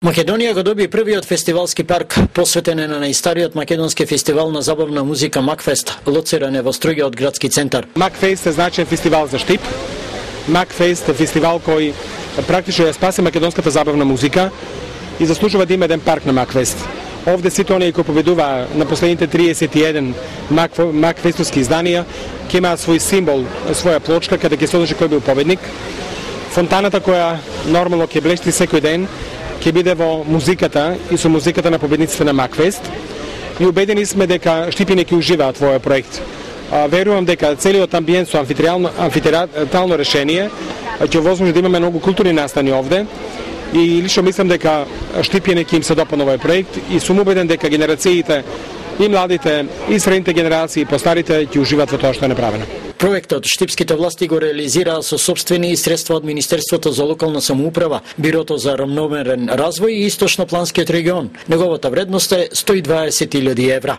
Македонија го доби првиот фестивалски парк посветен на најстариот македонски фестивал на забавна музика Макфест, лоциран во струѓиот градски центар. Макфест е значаен фестивал за Штип. Макфест е фестивал кој практично ја спаси македонската забавна музика и заслужува да има еден парк на Макфест. Овде сите оние кои победува на последните 31 Макфестовски изданија ќе имаат свој символ, своја плочка каде ќе се одржи кој бил победник. Фонтаната која нормално ќе блешти секој ден ќе биде во музиката и со музиката на победниците на Макфест. И убедени сме дека штипјани ќе уживаат во овој проект. Верувам дека целиот амбиент со амфитеатрално решение ќе возможи да имаме многу културни настани овде. И лично мислам дека штипјани ќе им се допадне овој проект и сум убеден дека генерациите и младите и средните генерации и постарите ќе уживаат во тоа што е направено. Проектот штипските власти го реализираа со сопствени средства од Министерството за локална самоуправа, Бирото за рамномерен развој и Источнопланскиот регион. Неговата вредност е 120.000 евра.